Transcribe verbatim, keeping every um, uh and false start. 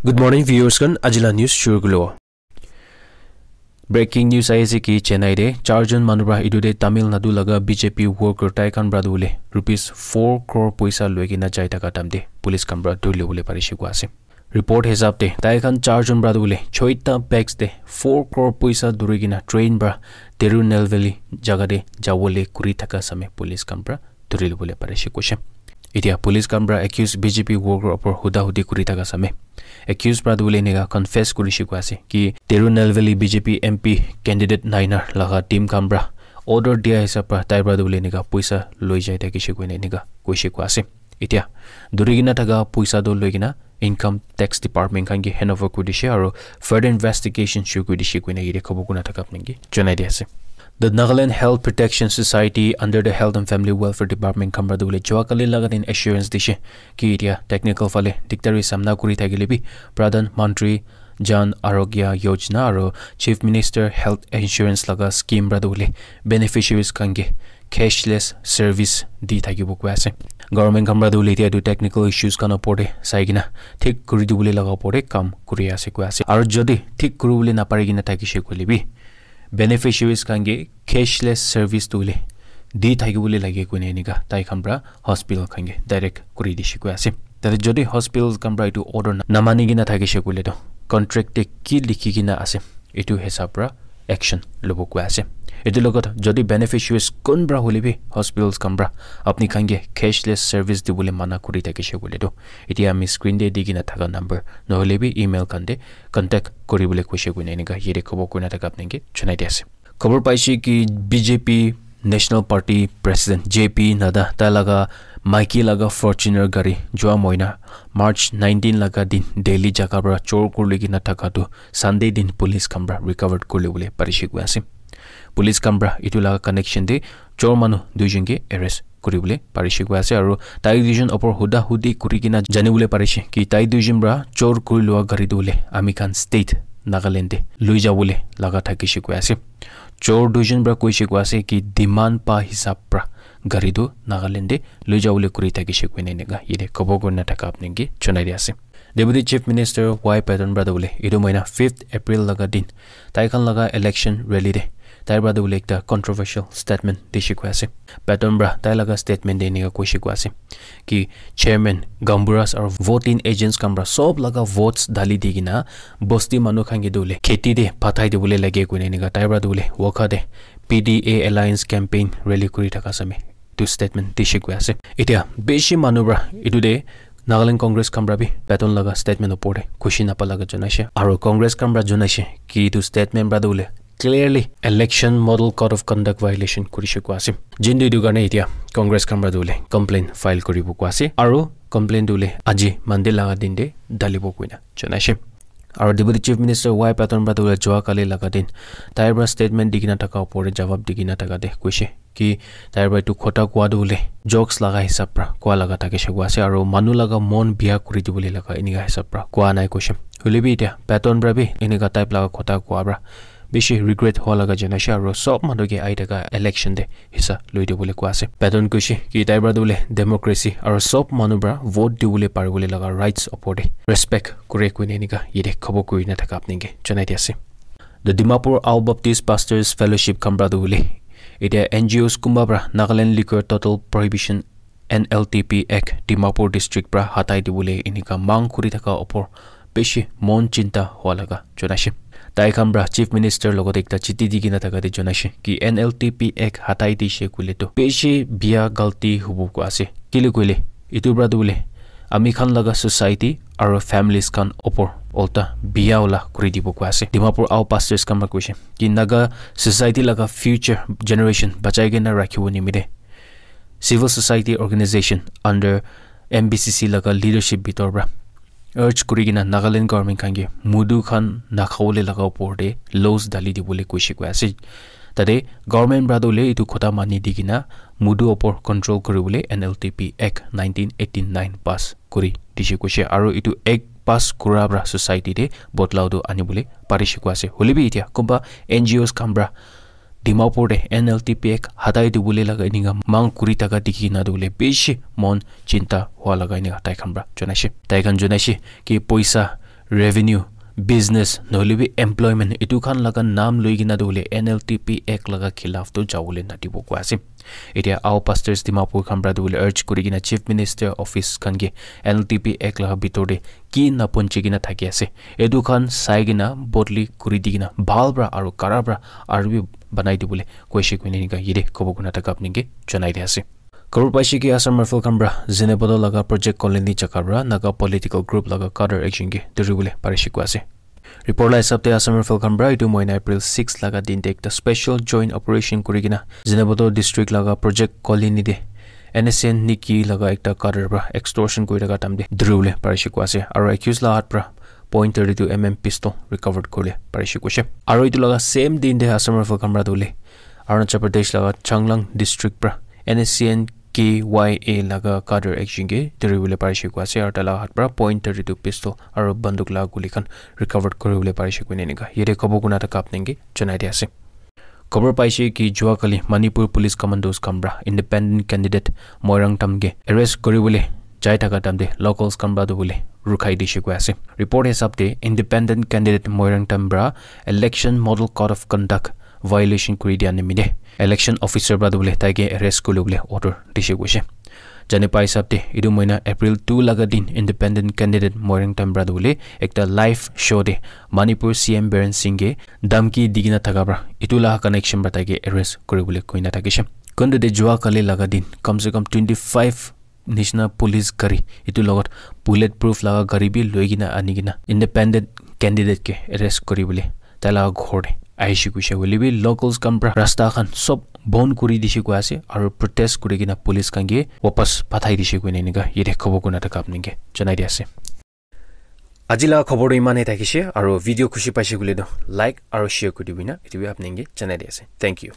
Good morning, viewers khan. Ajila news shuru kulo. Breaking news ahi ase ki Chennai de charjon manu pra etu de Tamil Nadu laga B J P worker tai khan pra tu bole rupees four crore poisa loi kena jai thaka time de police khan pra dhuri le bole parishe koi ase. Report hisab de tai khan charjon pra tu bole choita bags de four crore poisa dhuri kena train pra Tirunelveli jaga de jabo le kuri thaka same police khan pra dhuri le bole parishe koishe. Etia police khan pra accused B J P worker opor huda hudi kuri thaka same accused pra tu bole enika confess kurishe koi ase ki Tirunelveli B J P M P candidate naina laga team khan pra order dia hisab pra tai pra tu bole enika poisa loi jai thakishe koina enika koishe koi ase. Etia dhuri kena thaka poisa tu loi kena income tax department khan ke hand over kuri dishe aro further investigation shuru kuri dishe koina yate khobor kuna thaka apni ke jonai di ase. The Nagaland Health Protection Society under the Health and Family Welfare Department khan pra tu bole jua kali laga din assurance dishe ki etia technical phale dikdari samna kuri thakile bi Pradhan Mantri Jan Arogya Yojana aro Chief Minister Health Insurance laga scheme pra tu bole beneficiaries khan ke cashless service di thakibo koi ase. Government khan pra tu bole etia tu technical issues khan opor de sai kena thik kuri dibole laga opor de kam kuri ase koi ase. Aro jodi thik kuri bole napari kena thakishe koile bi beneficiaries khan ke cashless service tu bole di thakibole lage koina enika tai khan pra hospital khan ke direct kuri dishe koi ase. Tate jodi hospital khan pra etu order na namani kena thakishe koile to contract te ki likhi kena ase etu hisab pra action lobo koi ase. Etu logot jodi beneficiaries kun pra hole bi hospitals khan pra apni khan ke cashless service dibole mana kuri thakishe koile to etia ami screen te di kena thaka number nohole bi email khan te contact kuri bole koishe koina enika yate khobor kuna thaka apni ke jonai di ase. Khobor paishe ki B J P National Party President J P Nadda tai laga maiki laga Fortuner gari jua moina March nineteen laga din Delhi jaga pra chor kuri kena thaka tu Sunday din police khan pra recovered kuri le bole parishe koi ase. Police khan pra etu laga connection de chor manu duijon ke arrest kuri bole parishe koi ase aro tai duijon opor huda hudi kuri kena jani bole parishe ki tai duijon pra chor kuri lua gari tu bole ami khan state Nagaland de loi ja bole laga thakishe koi ase. Chor duijon pra koishe koi ase ki demand pa hisab pra gari tu Nagaland de loi ja bole kuri thakishe koina enika yate khobor kurina thaka apni ke jonai di ase. Deputy Chief Minister Y Patton pra tu bole etu moina fifth April laga din tai khan laga election rally de tai pra tu bole ekta controversial statement dishe koi ase. Patton pra tai laga statement de enika koishe koi ase ki chairman, gaonburas aro voting agents khan pra sob laga votes dali di kena bosti manu khan ke tu bole kheti de pathai dibole lage koina enika tai pra tu bole Wokha de P D A alliance campaign rally kuri thaka same tu statement dishe koi ase. Etia bishi manu pra etu de Nagaland Congress khan pra bi Patton laga statement opor de khushi napa laga janaishe aro Congress khan pra janaishe ki etu statement pra tu bole clearly election model code of conduct violation kurishe koi ase. Jintu etu karne etia Congress khan pra tu bole complaint file kuribo koi ase aro complaint tu bole aji Monday laga din de dalibo koina janaishe. Aro Deputy Chief Minister Y Patton pra tu bole jua kali laga din tai pra statement di kena thaka opor de jawab di kena thaka de koishe ki tai pra etu khota kua tu bole jokes laga hisab pra kua laga thakishe koi ase aro manu laga mon bia kuri dibole laga enika hisab pra kua nai koishe. Hole bi etia Patton pra bi enika type laga khota kua pra bishi regret hua laga janaishe aro sob manu ke ahi thaka election de hissa loi dibole koi ase. Patton koishe ki tai pra tu bole democracy aro sob manu pra vote dibole paribole laga rights opor de respect kure koina enika yate khobor kurina thaka apni ke jonai di ase. The Dimapur Ao Baptist Pastors Fellowship khan pra tu bole etia N G Os kunba pra Nagaland Liquor Total Prohibition N L T P Act Dimapur District pra hatai dibole enika mang kuri thaka opor bishi mon chinta hua laga janaishe. Tai khan pra Chief Minister logot ekta chiti di kena thaka de janaishe ki N L T P Act hatai dishe koile to bishi bia galti hubo koi ase. Kile koile etu pra tu bole ami khan laga society aro families khan opor ulta bia wala kuri dibo koi ase. Dimapur Ao Pastors khan pra koishe ki Naga society laga future generation bachai kena rakhibo nimite civil society organization under M B C C laga leadership bitor pra urge kuri kena Nagaland government khan ke mudu khan nakhabole laga opor de laws dali dibole koishe koi ase. Tate government pra tu bole etu khota mani di kena mudu opor control kuribole N L T P Act nineteen eighty nine pass kuri dishe koishe aro etu act pass kura pra society de bodlao tu anibole parishe koi ase. Hole bi etia kunba N G Os khan pra Dimapur de N L T P Act hatai dibole laga enika mang kuri thaka dikhi kena tu bole bishi mon chinta hua laga enika tai khan pra janaishe. Tai khan janaishe ki poisa revenue, business, nohoilebi employment, etu khan laga naam loi kena tu hoile N L T P Act laga khilaf tu jawole nadibo koi ase. Etia Ao Pastors Dimapur khan para tu hoile urge kuri kena Chief Minister Office khan ke N L T P Act laga bitor te ki napunchi kena thaki ase, etu khan sai kena bodli kuri di kena bhal para aru kara para aru bi banai dibole koise koina enika yate kobo kuna thaka apni ke janai di ase. Khobor paise ki Assam Rifle khan para Zunheboto laga Project Colony jaga para Naga political group laga cadre ekjon ke dhuribole parise koi ase. Report la hisab te Assam Rifle khan para etu mohina April six laga din te ekta special joint operation kuri kena Zunheboto district laga Project Colony te N S C N Niki laga ekta cadre para extortion kuri thaka time te dhuribole parise koi ase. Aru accused la hath para point thirty two M M pistol recovered kuribole parise koise. Aru etu laga same din te Assam Rifle khan para tu hoile Arunachal Pradesh laga Changlang district para N S C N K Y A laga cadre ekjon ke dhuribole parise koi ase aru tai laga hath para point thirty two pistol aru banduk laga guli khan recovered kuribole parise koina enika yate kobo kuna thaka apni ke janai di ase. Khobor paise ki jua kali Manipur Police Commandos khan para independent candidate Moirang Tam ke arrest kuribole jai thaka time te locals khan para tu hoile rukhai dise koi ase. Report hisab te independent candidate Moirang Tam para election model code of conduct violation kuri dia nimite election officer para tu hoile tai ke arrest kuribole order dise koise. Jane pai hisab te etu mohina April two laga din independent candidate Moirang Tam para tu hoile ekta live show te Manipur C M Biren Singh ke dhamki di kena thaka para etu laga connection para tai ke arrest kuribole koina thakise. Kuntu te jua kali laga din kam se kam twenty five nishina police gari etu logot bullet proof laga gari bi loi kena ani kena independent candidate ke arrest kuribole tai laga ghor te aise koise. Hoile bi locals khan para rasta khan sob bon kuri dise koi ase aru protest kuri kena police khan ke wapas pathai dise koina enika yate kobo kuna thaka apni ke janai di ase. Aji laga khobor tu iman e thakise aru video khushi paise koile tu like aru share kuri dibi na etu bi apni ke janai di ase. Thank you.